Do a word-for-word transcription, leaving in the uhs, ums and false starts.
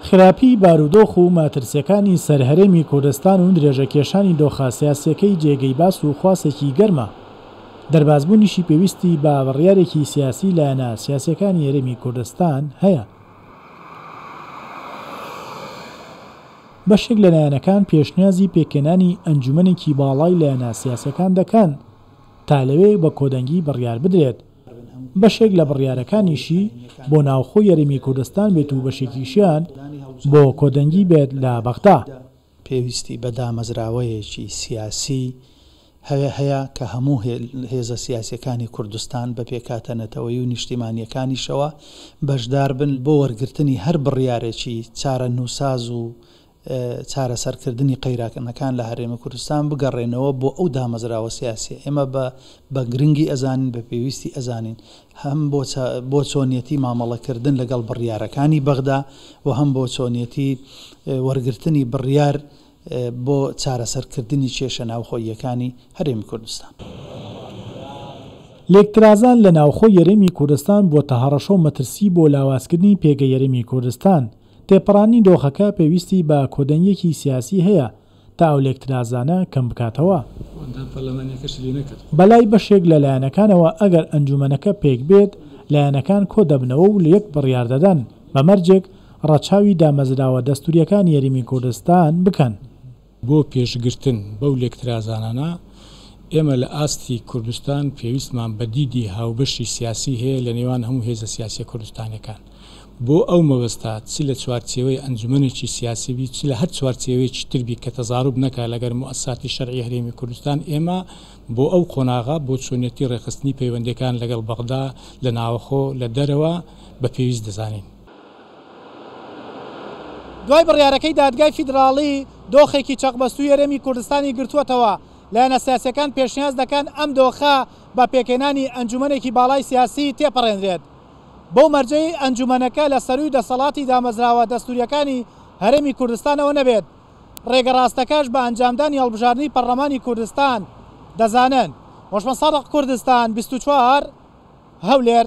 خراپی بارودۆخ و مەترسیەکانی سەر هەرێمی کوردستان و درێژەکێشانی دۆخە سیاسیەکەی جێگەی باس و خواسێکی گەرمە. دەربازبوونیشی پێویستی بە بڕیارێکی سیاسی لایەنە سیاسیەکانی هەرێمی کوردستان هەیە. بەشێک لە لایەنەکان پێشنیازی پێکهێنانی ئەنجومەنێکی باڵای لایەنە سیاسیەکان دەکەن تا لەوێ بە کۆدەنگی بڕیار بدرێت. بەشێک لە بڕیارەکانیشی بۆ ناوخۆی هەرێمی کوردستان بێت و بەشێکیشیان بۆ کۆدەنگی بێت لە بەغدا. پێویستی بە دامەزراوەیەکی سیاسی هەیە کە هەموو هێزە سیاسیەکانی کوردستان بە پێکهاتە نەتەوەیی و نیشتیمانیەکانیشەوە بەشدار بن بۆ وەرگرتنی هەر بڕیارێکی چارەنووساز و چارەسەرکردنی قەیرانەکان لە هەرێمی کوردستان بگەڕێنەوە بۆ ئەو دامەزراوە سیاسیە. ئێمە بە گرنگی ئەزانین، بە پێویستی ئەزانین هەم بۆ چۆنیەتی مامەڵەکردن لەگەڵ بڕیارەکانی بەغدا و هەم بۆ چۆنیەتی وەرگرتنی بڕیار بۆ چارەسەرکردنی کێشە ناوخۆییەکانی هەرێمی کوردستان. لێکترازان لە ناوخۆی هەرێمی کوردستان بۆتە هەڕەشە و مەترسی بۆ لاوازکردنی پێگەی هەرێمی کوردستان. تێپەڕانی دۆخەکە پێویستی بە کۆدەنگیەکی سیاسی هەیە تا ئەو لێکترازانە کەم بکاتەوە. بەلای بەشێک لە لایەنەکانەوە ئەگەر ئەنجومەنەکە پێک بێت، لایەنەکان کۆ دەبنەوە و لە یەک بڕیار دەدەن، بە مەرجێک ڕەچاوی دامەزراوە دەستوریەکانی هەرێمی کوردستان بکەن. بۆ پێشگرتن بەو لێکترازانانە ئێمە لە ئاستی کوردستان پێویستمان بە دیدی هاوبەشی سیاسی هەیە لە نێوان هەموو هێزە سیاسیە کوردستانەکان. بۆ ئەو مەبەستا چ لە چوارچێوەی ئەنجومەنێکی سیاسی بی، چ لە هەر چوارچێوەیەکی تر بی کە تەزاروب نەکا لەگەر موئەسساتی شەرعی هەرێمی کوردستان، ئێمە بۆ ئەو قۆناغە بۆ چۆنیەتی ڕێکخستنی پەیوەندیەکان لەگەڵ بەغدا لە ناوەخۆ لە دەرەوە بە پێویست دەزانین. دوای بڕیارەکەی دادگای فیدراڵی دۆخێکی چەقبەستووی هەرێمی کوردستانی گرتووەتەوە. لایەنە سیاسیەکان پێشنیاز دەکەن ئەم دۆخە بە پێکهێنانی ئەنجومەنێکی باڵای سیاسی تێپەڕێنرێت. بەو مەرجەی ئەنجومەنەکە لە سەروی دەسەڵاتی دامەزراوە دەستوریەکانی هەرێمی کوردستانەوە نەبێت. ڕێگە ڕاستەکەش بە ئەنجامدانی هەڵبژاردنی پەرلەمانی کوردستان دەزانن. هۆشمەند سادق، کوردستان بیست و چوار، هەولێر.